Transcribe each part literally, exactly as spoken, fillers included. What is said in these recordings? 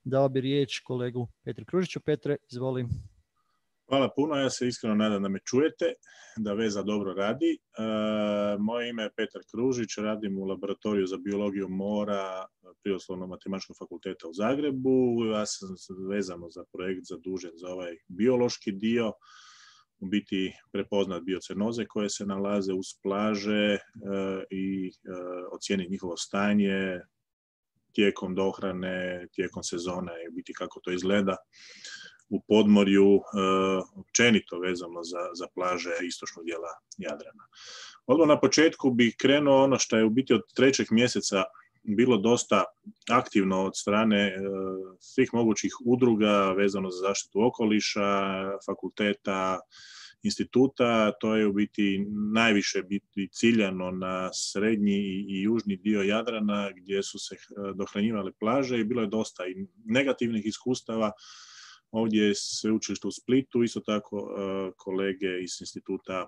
dao bi riječ kolegu Petru Kružiću. Petre, izvoli. Hvala puno, ja se iskreno nadam da me čujete, da veza dobro radi. E, moje ime je Petar Kružić, radim u laboratoriju za biologiju mora Prirodoslovno-matematičkog fakulteta u Zagrebu. Ja sam vezano za projekt zadužen za ovaj biološki dio, u biti prepoznat biocenoze koje se nalaze uz plaže e, i e, ocijeniti njihovo stanje tijekom dohrane, tijekom sezone i biti kako to izgleda u podmorju, općenito vezano za, za plaže istočnog dijela Jadrana. Odmah na početku bih krenuo ono što je u biti od trećeg mjeseca bilo dosta aktivno od strane svih mogućih udruga vezano za zaštitu okoliša, fakulteta, instituta. To je u biti najviše biti ciljano na srednji i južni dio Jadrana gdje su se dohranjivale plaže i bilo je dosta i negativnih iskustava. Ovdje je sveučilište u Splitu, isto tako kolege iz Instituta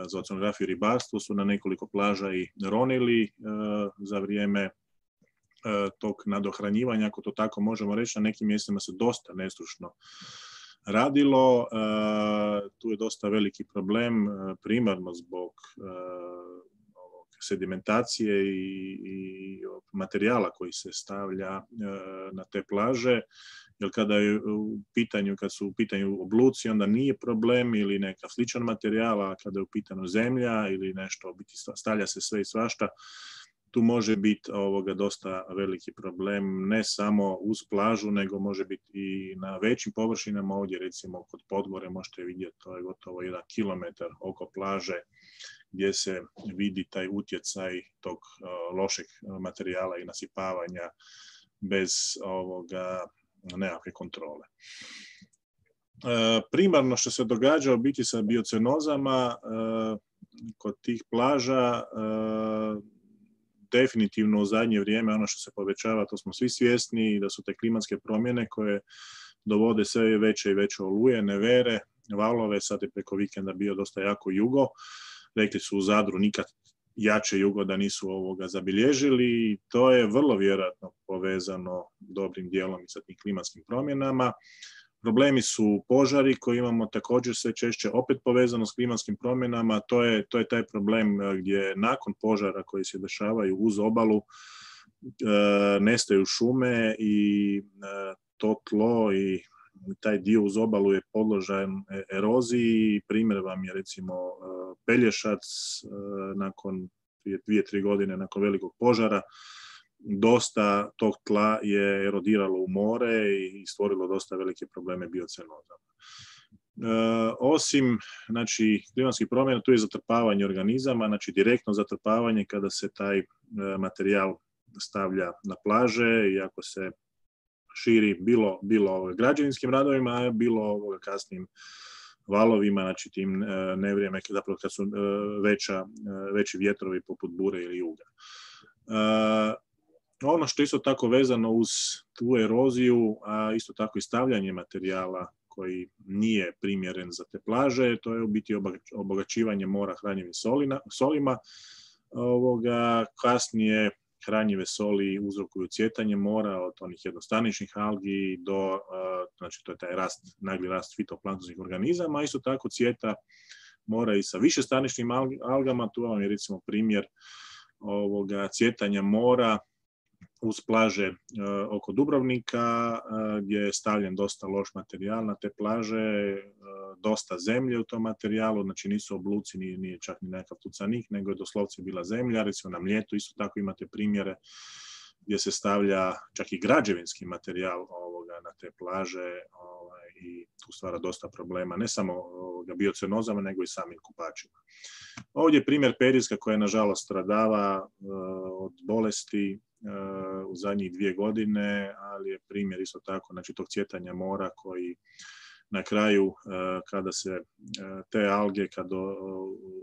za oceanografiju i ribarstvo su na nekoliko plaža i ronili za vrijeme tog nadohranjivanja, ako to tako možemo reći. Na nekim mjestima se dosta nestručno radilo. Tu je dosta veliki problem, primarno zbog sedimentacije i, i materijala koji se stavlja na te plaže. Jer kada je u pitanju, kad su u pitanju obluci, onda nije problem ili neka sličan materijal, a kada je u pitanju zemlja ili nešto, biti stavlja se sve i svašta, tu može biti ovoga dosta veliki problem, ne samo uz plažu, nego može biti i na većim površinama. Ovdje recimo kod Podgore možete vidjeti, to je gotovo jedan kilometar oko plaže gdje se vidi taj utjecaj tog uh, lošeg materijala i nasipavanja bez ovoga nekakve kontrole. E, primarno što se događa u biti sa biocenozama e, kod tih plaža, e, definitivno u zadnje vrijeme ono što se povećava, to smo svi svjesni, da su te klimatske promjene koje dovode sve veće i veće oluje, nevere, valove. Sad je preko vikenda bio dosta jako jugo. Rekli su u Zadru nikad jače jugo da nisu ovoga zabilježili i to je vrlo vjerojatno povezano dobrim dijelom i sa tim klimatskim promjenama. Problemi su požari koji imamo također sve češće, opet povezano s klimatskim promjenama. To je, to je taj problem gdje nakon požara koji se dešavaju uz obalu e, nestaju šume i e, to tlo i taj dio uz obalu je podložan eroziji. Primjer vam je recimo Pelješac nakon prije dvije, tri godine nakon velikog požara. Dosta tog tla je erodiralo u more i stvorilo dosta velike probleme biocenozama. E, osim znači, klimatskih promjena, tu je zatrpavanje organizama, znači direktno zatrpavanje kada se taj e, materijal stavlja na plaže i ako se širi bilo, bilo građevinskim radovima, a bilo kasnim valovima, znači tim e, nevrijeme zapravo kad su e, veća, e, veći vjetrovi poput bure ili juga. E, ono što isto tako vezano uz tu eroziju, a isto tako i stavljanje materijala koji nije primjeren za te plaže, to je u biti obogaćivanje mora hranjivim solina, solima. Ovoga, kasnije hranjive soli uzrokuju cvjetanje mora od onih jednostaničnih algi do, znači to je taj rast, nagli rast fitoplanktonskih organizama, isto tako cvjeta mora i sa višestaničnim algama. Tu vam je recimo primjer ovoga cvjetanja mora uz plaže e, oko Dubrovnika, e, gdje je stavljen dosta loš materijal na te plaže, e, dosta zemlje u tom materijalu, znači nisu obluci, nije, nije čak ni nekakav tucanik, nego je doslovce bila zemlja. Recimo na Mljetu isto tako imate primjere gdje se stavlja čak i građevinski materijal ovoga na te plaže ovaj, i tu stvara dosta problema, ne samo ovoga, biocenozama, nego i samim kupačima. Ovdje je primjer Periska koja nažalost stradava uh, od bolesti uh, u zadnjih dvije godine, ali je primjer isto tako, znači tog cvjetanja mora koji na kraju uh, kada se uh, te alge kad uh,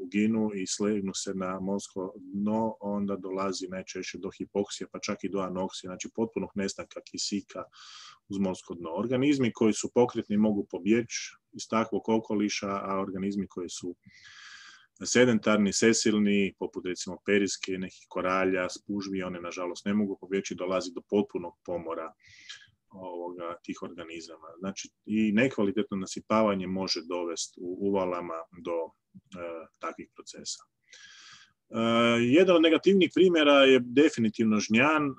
uginu i slegnu se na morsko dno, onda dolazi najčešće do hipoksije, pa čak i do anoksije, znači potpunog nestanka kisika uz morsko dno. Organizmi koji su pokretni mogu pobjeći iz takvog okoliša, a organizmi koji su sedentarni, sesilni, poput recimo periske, nekih koralja, spužvi, one nažalost ne mogu pobjeći, dolazi do potpunog pomora ovoga, tih organizama. Znači, i nekvalitetno nasipavanje može dovesti u uvalama do e, takvih procesa. Uh, jedan od negativnih primjera je definitivno žnjan, uh,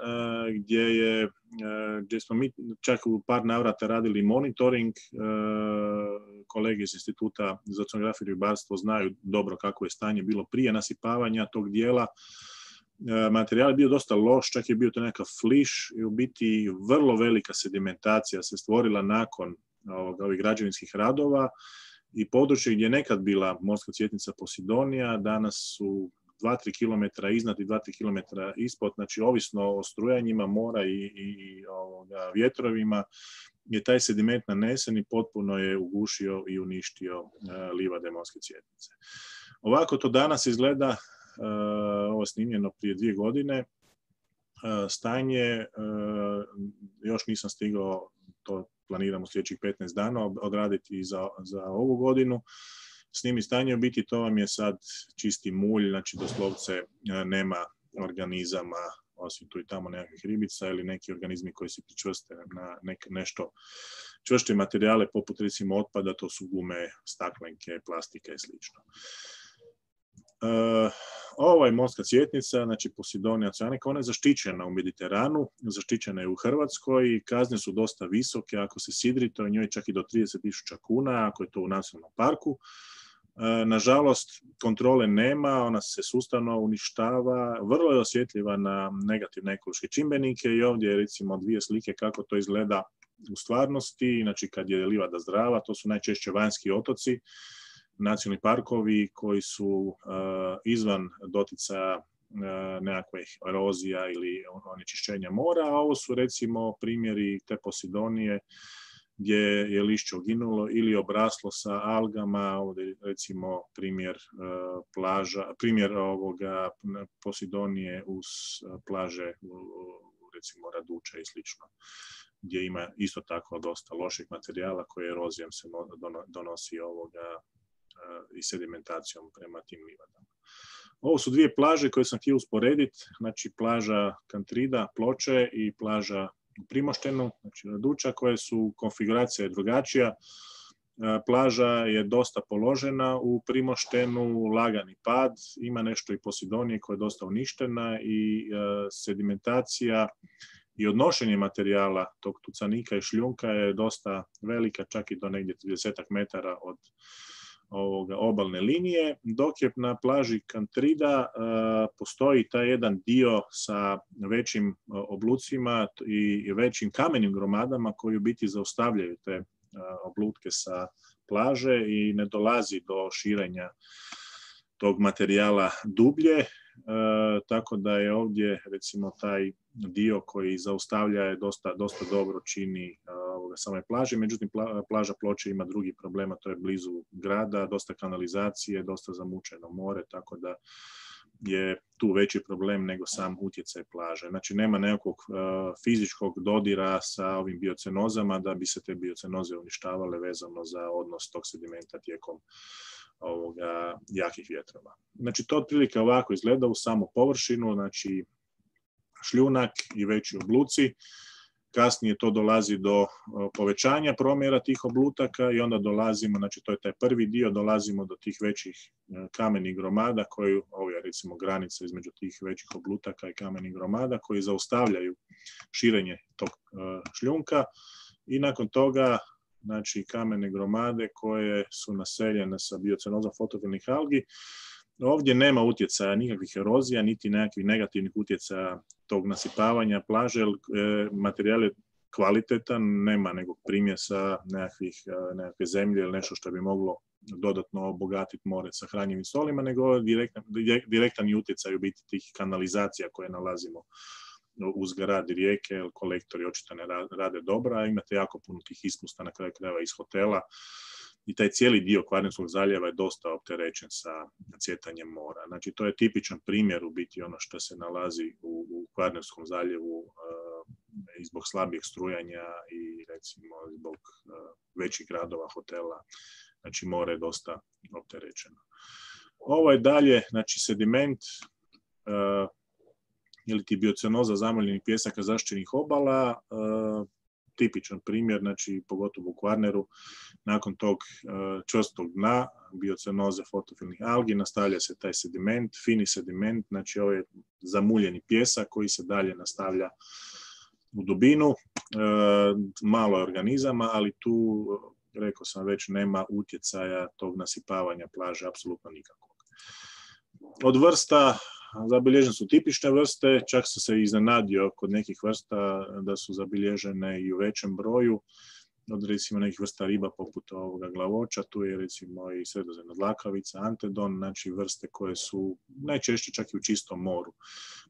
gdje, je, uh, gdje smo mi čak u par navrata radili monitoring. Uh, kolege iz Instituta za oceanografiju i ribarstvo znaju dobro kako je stanje bilo prije nasipavanja tog dijela. Uh, materijal je bio dosta loš, čak je bio to nekakav fliš i u biti vrlo velika sedimentacija se stvorila nakon ovog, ovih građevinskih radova i područje gdje je nekad bila morska cvjetnica Posidonija, danas su dva do tri kilometra iznad i dva do tri kilometra ispod, znači ovisno o strujanjima mora i, i, i ovoga, vjetrovima, je taj sediment nanesen i potpuno je ugušio i uništio uh, livade morske cvjetnice. Ovako to danas izgleda, uh, ovo je snimljeno prije dvije godine, uh, stanje, uh, još nisam stigao, to planiram u sljedećih petnaest dana odraditi i za, za ovu godinu. Snimi stanje, u biti to vam je sad čisti mulj, znači doslovce nema organizama, osim tu i tamo nekakvih ribica ili neki organizmi koji se pričvrste na nek, nešto čvršće materijale poput recimo otpada, to su gume, staklenke, plastike i slično. Uh, ovo je morska cvjetnica, znači Posidonia oceanica, ona je zaštićena u Mediteranu, zaštićena je u Hrvatskoj i kazne su dosta visoke, ako se sidri, to je njoj čak i do trideset tisuća kuna, ako je to u nacionalnom parku. Nažalost, kontrole nema, ona se sustavno uništava, vrlo je osjetljiva na negativne ekološke čimbenike i ovdje je recimo dvije slike kako to izgleda u stvarnosti. Znači kad je livada zdrava, to su najčešće vanjski otoci, nacionalni parkovi koji su uh, izvan doticaja uh, nekakvih erozija ili onečišćenja mora, a ovo su recimo primjeri te Posidonije gdje je lišće uginulo ili obraslo sa algama, ovdje recimo primjer uh, plaža, primjer ovoga Posidonije uz plaže recimo Raduča i slično, gdje ima isto tako dosta loših materijala koje erozijom se donosi ovoga uh, i sedimentacijom prema tim livadama. Ovo su dvije plaže koje sam htio usporediti, znači plaža Kantrida, Ploče i plaža u Primoštenu, znači Raduča, koje su konfiguracija drugačija. Plaža je dosta položena u Primoštenu, lagani pad, ima nešto i Posidonije koja je dosta uništena i sedimentacija i odnošenje materijala tog tucanika i šljunka je dosta velika, čak i do negdje trideset metara od ovoga obalne linije, dok je na plaži Kantrida uh, postoji taj jedan dio sa većim uh, oblucima i većim kamenim gromadama koji u biti zaustavljaju te uh, oblutke sa plaže i ne dolazi do širenja tog materijala dublje, uh, tako da je ovdje recimo taj dio koji zaustavlja je dosta, dosta dobro čini uh, same plaže, međutim pla, plaža Ploče ima drugi problema, to je blizu grada, dosta kanalizacije, dosta zamučeno more, tako da je tu veći problem nego sam utjecaj plaže. Znači nema nekog uh, fizičkog dodira sa ovim biocenozama da bi se te biocenoze uništavale vezano za odnos tog sedimenta tijekom ovoga jakih vjetrova. Znači to otprilike ovako izgleda u samu površinu, znači šljunak i veći obluci. Kasnije to dolazi do povećanja promjera tih oblutaka i onda dolazimo, znači to je taj prvi dio, dolazimo do tih većih kamenih gromada koji, ovo je recimo granica između tih većih oblutaka i kamenih gromada koji zaustavljaju širenje tog šljunka i nakon toga znači kamene gromade koje su naseljene sa biocenozom fotofilnih algi. Ovdje nema utjecaja nikakvih erozija, niti nekakvih negativnih utjecaja tog nasipavanja plaže, materijal je kvalitetan, nema nekog primjesa nekakvih, nekakve zemlje ili nešto što bi moglo dodatno obogatiti more sa hranjivim solima, nego direktan, direktan utjecaj u biti tih kanalizacija koje nalazimo uz grad i rijeke, jer kolektori očito ne rade dobro, a imate jako puno tih ispusta na kraju krajeva iz hotela. I taj cijeli dio Kvarnerskog zaljeva je dosta opterećen sa cvjetanjem mora. Znači, to je tipičan primjer u biti ono što se nalazi u, u Kvarnerskom zaljevu uh, i zbog slabijeg strujanja i recimo zbog uh, većih gradova, hotela. Znači, more je dosta opterećeno. Ovo je dalje, znači, sediment uh, ili ti biocenoza zamoljenih pjesaka zaštićenih obala. Uh, tipičan primjer, znači pogotovo u Kvarneru, nakon tog čvrstog dna, biocenoze fotofilnih algi, nastavlja se taj sediment, fini sediment, znači ovaj zamuljeni pijesak koji se dalje nastavlja u dubinu, malo je organizama, ali tu, rekao sam već, nema utjecaja tog nasipavanja plaže, apsolutno nikakvog. Od vrsta zabilježene su tipične vrste, čak sam se iznenadio kod nekih vrsta da su zabilježene i u većem broju, od recimo nekih vrsta riba poput ovoga glavoča, tu je recimo i sredozemna dlakavica, antedon, znači vrste koje su najčešće čak i u čistom moru.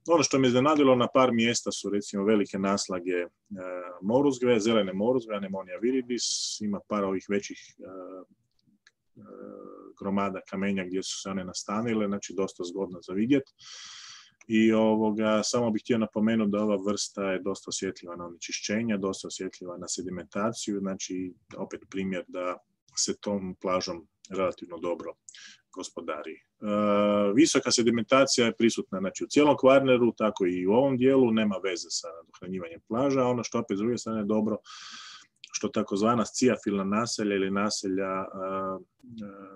Ono što me iznenadilo na par mjesta su recimo velike naslage e, moruzgve, zelene moruzgve, Anemonia viridis, ima par ovih većih e, e, gromada kamenja gdje su se one nastanile, znači dosta zgodno za vidjeti. I ovoga, samo bih htio napomenuti da ova vrsta je dosta osjetljiva na onečišćenja, dosta osjetljiva na sedimentaciju, znači opet primjer da se tom plažom relativno dobro gospodari. E, visoka sedimentacija je prisutna znači, u cijelom Kvarneru, tako i u ovom dijelu, nema veze sa dohranjivanjem plaža. Ono što opet s druge strane je dobro, što takozvana sciafilna naselja ili naselja a, a,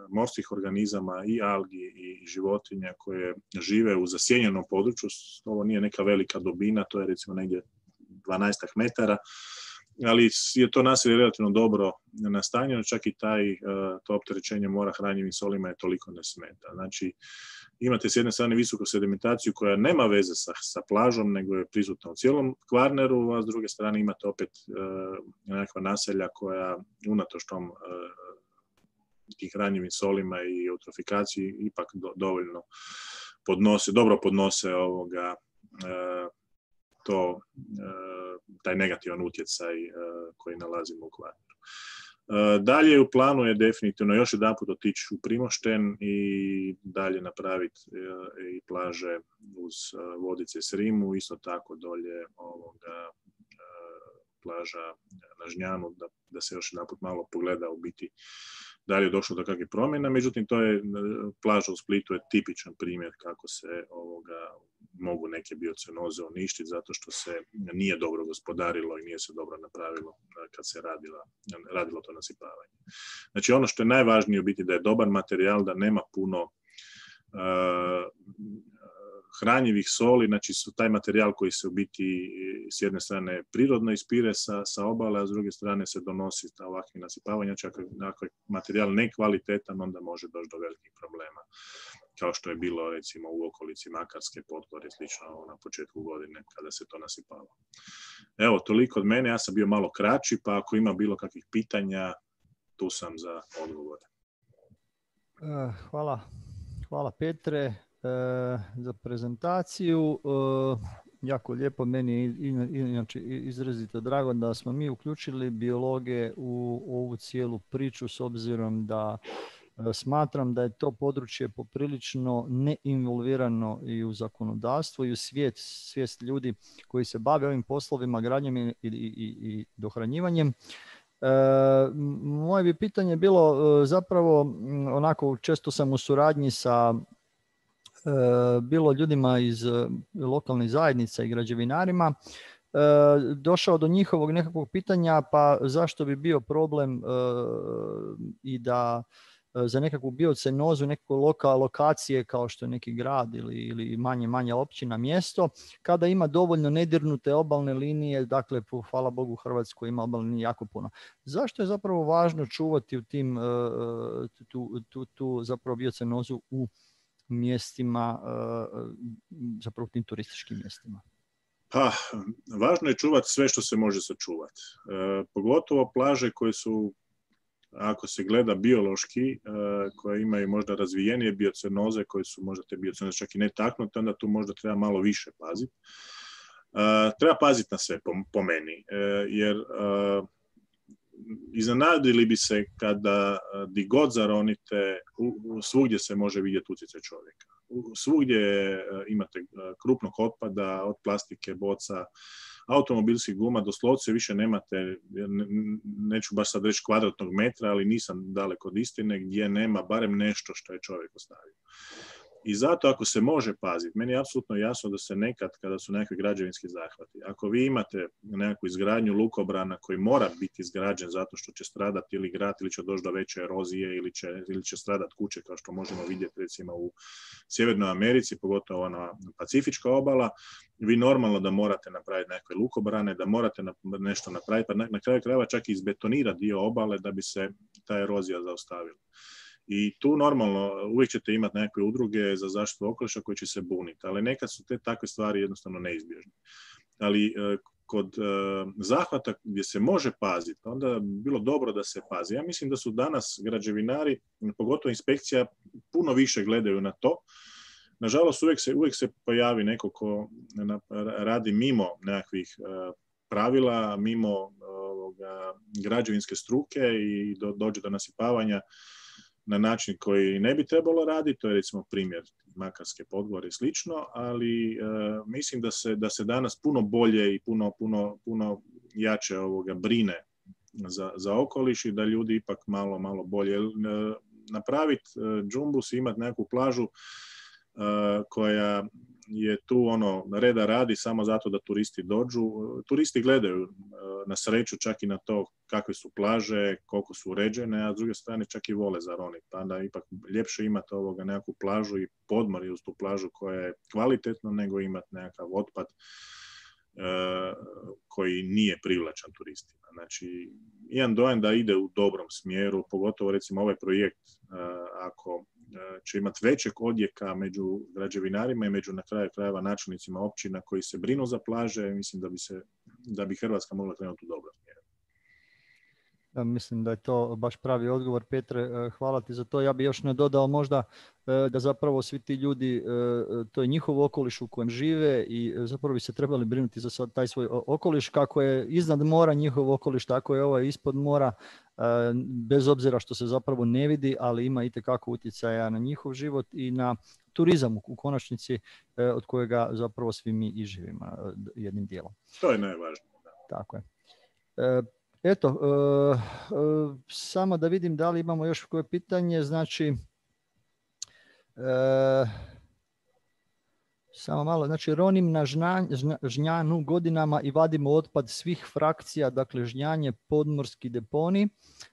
morskih organizama i algi i životinja koje žive u zasjenjenom području, ovo nije neka velika dubina, to je recimo negdje dvanaest metara, ali je to naselje relativno dobro nastanjeno, čak i taj, to opterećenje mora hranjivim solima je toliko ne smeta. Znači, imate s jedne strane visoku sedimentaciju koja nema veze sa, sa plažom, nego je prisutna u cijelom Kvarneru, a s druge strane imate opet e, nekakva naselja koja unatoč tom e, tih hranjivim solima i eutrofikaciji ipak do, dovoljno podnose, dobro podnose ovoga e, to, e, taj negativan utjecaj e, koji nalazimo u Kvarneru. Dalje u planu je definitivno još jedan put otići u Primošten i dalje napraviti i plaže uz Vodice i Srimu, isto tako dolje ovoga plaža na Žnjanu, da, da se još jedan put malo pogleda u biti da li je došlo do kakvih promjena. Međutim, to je, plaža u Splitu je tipičan primjer kako se ovoga mogu neke biocenoze uništiti zato što se nije dobro gospodarilo i nije se dobro napravilo kad se radila, radilo to nasipavanje. Znači ono što je najvažnije u biti da je dobar materijal, da nema puno uh, hranjivih soli, znači su taj materijal koji se u biti s jedne strane prirodno ispire sa, sa obale, a s druge strane se donosi sa ovakvim nasipavanja, čak ako je materijal nekvalitetan, onda može doći do velikih problema, kao što je bilo recimo u okolici Makarske, Podgorje, slično na početku godine kada se to nasipalo. Evo, toliko od mene, ja sam bio malo kraći, pa ako ima bilo kakvih pitanja, tu sam za odgovore. Hvala, hvala Petre za prezentaciju. Jako lijepo, meni je inače izrazito drago da smo mi uključili biologe u ovu cijelu priču s obzirom da smatram da je to područje poprilično neinvolvirano i u zakonodavstvo i u svijet, svijest ljudi koji se bave ovim poslovima, gradnjom i, i, i dohranjivanjem. E, moje bi pitanje bilo zapravo onako, često sam u suradnji sa e, bilo ljudima iz lokalnih zajednica i građevinarima, e, došao do njihovog nekakvog pitanja, pa zašto bi bio problem e, i da za nekakvu biocenozu, nekakve loka, lokacije kao što je neki grad ili, ili manje, manje općina, mjesto, kada ima dovoljno nedirnute obalne linije, dakle, hvala Bogu, Hrvatskoj ima obalne linije jako puno. Zašto je zapravo važno čuvati u tim, tu, tu, tu zapravo biocenozu u mjestima, zapravo tim turističkim mjestima? Pa, važno je čuvati sve što se može sačuvati. E, pogotovo plaže koje su, ako se gleda biološki, koje imaju možda razvijenije biocenoze, koje su možda te biocenoze čak i netaknute, onda tu možda treba malo više paziti. Treba paziti na sve, po, po meni, jer iznenadili bi se kada di god zaronite, svugdje se može vidjeti utjecaj čovjeka. Svugdje imate krupnog otpada, od plastike, boca, automobilskih guma, doslovce više nemate, neću baš sad reći kvadratnog metra, ali nisam daleko od istine, gdje nema barem nešto što je čovjek ostavio. I zato ako se može paziti, meni je apsolutno jasno da se nekad, kada su nekakvi građevinski zahvati, ako vi imate nekakvu izgradnju lukobrana koji mora biti izgrađen zato što će stradati ili grad, ili će doći do veće erozije, ili će, ili će stradati kuće, kao što možemo vidjeti recimo u Sjevernoj Americi, pogotovo ona Pacifička obala, vi normalno da morate napraviti nekakve lukobrane, da morate nešto napraviti, pa na, na kraju krajeva čak i izbetonirati dio obale da bi se ta erozija zaustavila. I tu normalno uvijek ćete imati nekakve udruge za zaštitu okoliša koji će se buniti, ali nekad su te takve stvari jednostavno neizbježne. Ali e, kod e, zahvata gdje se može paziti, onda bi bilo dobro da se pazi. Ja mislim da su danas građevinari, pogotovo inspekcija, puno više gledaju na to. Nažalost, uvijek se, uvijek se pojavi neko ko radi mimo nekakvih e, pravila, mimo ovoga, građevinske struke i do, dođe do nasipavanja na način koji ne bi trebalo raditi, to je recimo primjer Makarske Podgore i slično, ali e, mislim da se, da se danas puno bolje i puno, puno, puno jače ovoga brine za, za okoliš i da ljudi ipak malo, malo bolje. E, napraviti e, džumbus i imati nekakvu plažu e, koja je tu ono reda radi samo zato da turisti dođu. Turisti gledaju na sreću čak i na to kakve su plaže, koliko su uređene, a s druge strane čak i vole zaroniti. Pa onda ipak ljepše imati ovoga nekakvu plažu i podmorje uz tu plažu koja je kvalitetna nego imati nekakav otpad e, koji nije privlačan turistima. Znači, imam dojam da ide u dobrom smjeru, pogotovo recimo ovaj projekt e, ako će imati većeg odjeka među građevinarima i među na kraju krajeva načelnicima općina koji se brinu za plaže, mislim da bi, se, da bi Hrvatska mogla krenuti u dobrom smjeru. Ja mislim da je to baš pravi odgovor, Petre, hvala ti za to. Ja bih još nadodao možda da zapravo svi ti ljudi, to je njihov okoliš u kojem žive i zapravo bi se trebali brinuti za taj svoj okoliš. Kako je iznad mora njihov okoliš, tako je ovaj ispod mora, bez obzira što se zapravo ne vidi, ali ima itekako utjecaja na njihov život i na turizam u konačnici od kojega zapravo svi mi i živimo jednim dijelom. To je najvažnije. Da. Tako je. Eto, uh, uh, samo da vidim da li imamo još koje pitanje, znači uh, samo malo, znači ronim na žna, žna, žnjanu godinama i vadimo otpad svih frakcija, dakle žnjanje, podmorski deponi.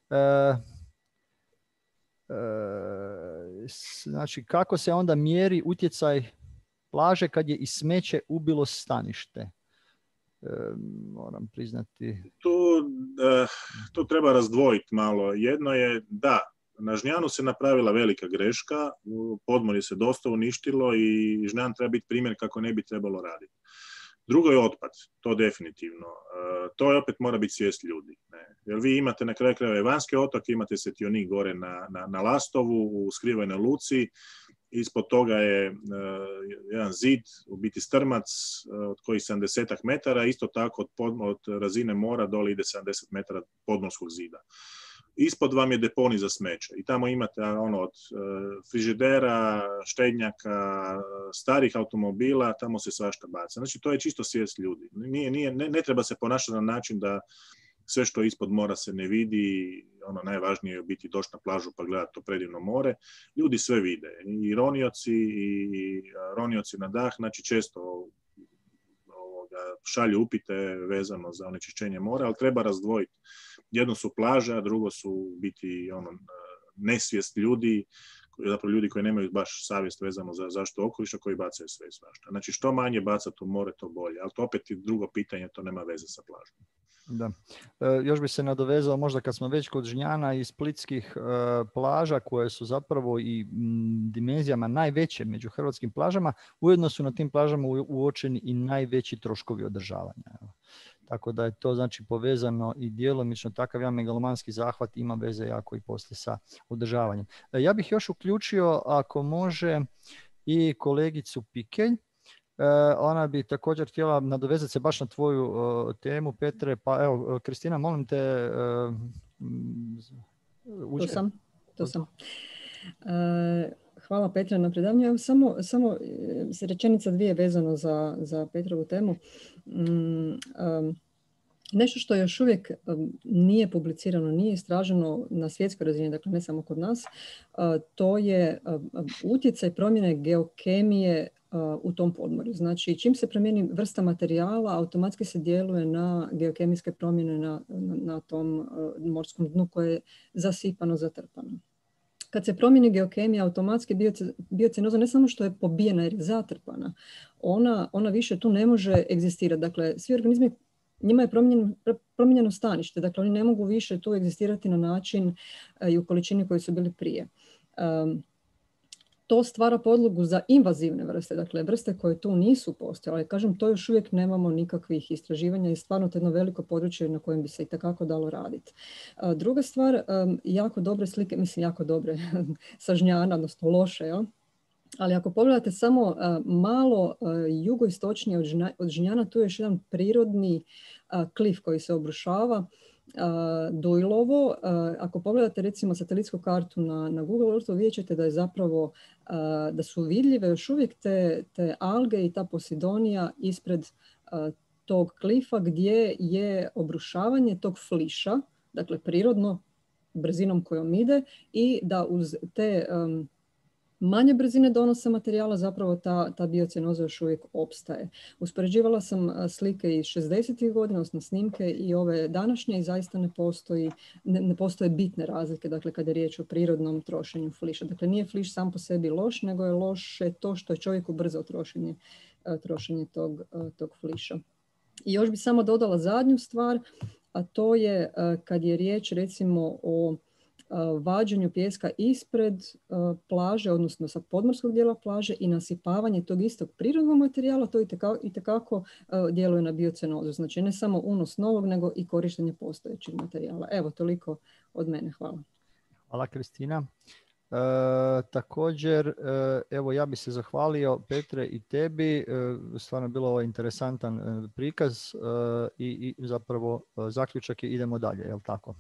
Uh, uh, znači kako se onda mjeri utjecaj plaže kad je i smeće ubilo stanište? Moram priznati. Tu, tu treba razdvojiti malo. Jedno je da, na Žnjanu se napravila velika greška, podmorje se dosta uništilo i Žnjan treba biti primjer kako ne bi trebalo raditi. Drugo je otpad, to definitivno. To je opet mora biti svijest ljudi. Ne? Jer vi imate na kraju krajeva Vanjske otoke, imate Setionik gore na, na, na Lastovu, u Skrivenoj luci. Ispod toga je uh, jedan zid, u biti strmac, uh, od kojih sedamdeset metara, isto tako od, pod, od razine mora dole ide sedamdeset metara podmorskog zida. Ispod vam je deponij za smeće i tamo imate ono od uh, frižidera, štednjaka, starih automobila, tamo se svašta baca. Znači to je čisto svijest ljudi. Nije, nije, ne, ne treba se ponašati na način da sve što ispod mora se ne vidi, ono najvažnije je biti doći na plažu pa gledati to predivno more. Ljudi sve vide, i ronioci, i ronioci na dah, znači često ovoga, šalju upite vezano za onečišćenje mora, ali treba razdvojiti. Jedno su plaže, a drugo su biti ono, nesvijest ljudi, zapravo ljudi koji nemaju baš savjest vezano za zaštitu okoliša, koji bacaju sve i svašta. Znači što manje bacati u more, to bolje, ali to opet je drugo pitanje, to nema veze sa plažom. Da. E, još bi se nadovezao možda kad smo već kod Žnjana i splitskih e, plaža koje su zapravo i m, dimenzijama najveće među hrvatskim plažama, ujedno su na tim plažama u, uočeni i najveći troškovi održavanja. Evo. Tako da je to znači povezano i djelomično takav jedan megalomanski zahvat ima veze jako i poslije sa održavanjem. E, ja bih još uključio ako može i kolegicu Pikelj. Uh, ona bi također htjela nadovezati se baš na tvoju uh, temu, Petre, pa evo, Kristina, molim te uh, tu sam, tu sam. Uh, hvala Petra na predavanju. Evo, samo, samo rečenica dvije vezano za, za Petrovu temu. Um, um, nešto što još uvijek nije publicirano, nije istraženo na svjetskoj razini, dakle ne samo kod nas, to je utjecaj promjene geokemije u tom podmorju. Znači, čim se promijeni vrsta materijala, automatski se djeluje na geokemijske promjene na, na, na tom morskom dnu koje je zasipano, zatrpano. Kad se promijeni geokemija, automatski biocenoza ne samo što je pobijena jer je zatrpana, ona, ona više tu ne može egzistirati. Dakle, svi organizmi, njima je promijenjeno, promijenjeno stanište, dakle oni ne mogu više tu egzistirati na način i u količini koji su bili prije. Um, to stvara podlogu za invazivne vrste, dakle vrste koje tu nisu postojale. Kažem, to još uvijek nemamo nikakvih istraživanja i stvarno to je jedno veliko područje na kojem bi se i takako dalo raditi. Uh, druga stvar, um, jako dobre slike, mislim jako dobre, sa Žnjana, odnosno loše, ja? Ali ako pogledate samo uh, malo uh, jugoistočnije od, žna, od Žnjana, tu je još jedan prirodni uh, klif koji se obrušava, uh, Dujlovo. Uh, ako pogledate recimo satelitsku kartu na, na Google Earthu, vidjet ćete da je zapravo uh, da su vidljive još uvijek te, te alge i ta Posidonija ispred uh, tog klifa gdje je obrušavanje tog fliša, dakle prirodno, brzinom kojom ide, i da uz te um, manje brzine donosa materijala zapravo ta, ta biocenoza još uvijek opstaje. Uspoređivala sam slike iz šezdesetih godina, odnosno snimke i ove današnje i zaista ne, postoji, ne, ne postoje bitne razlike, dakle kada je riječ o prirodnom trošenju fliša. Dakle nije fliš sam po sebi loš, nego je loše to što je čovjek ubrzao trošenje, trošenje tog, tog fliša. I još bi samo dodala zadnju stvar, a to je kad je riječ recimo o vađenju pijeska ispred uh, plaže, odnosno sa podmorskog dijela plaže i nasipavanje tog istog prirodnog materijala, to itekako uh, djeluje na biocenozu. Znači ne samo unos novog, nego i korištenje postojećeg materijala. Evo, toliko od mene. Hvala. Hvala, Kristina. E, također, e, evo ja bih se zahvalio Petre i tebi, e, stvarno je bilo ovo interesantan e, prikaz e, i, i zapravo e, zaključak je idemo dalje, je li tako?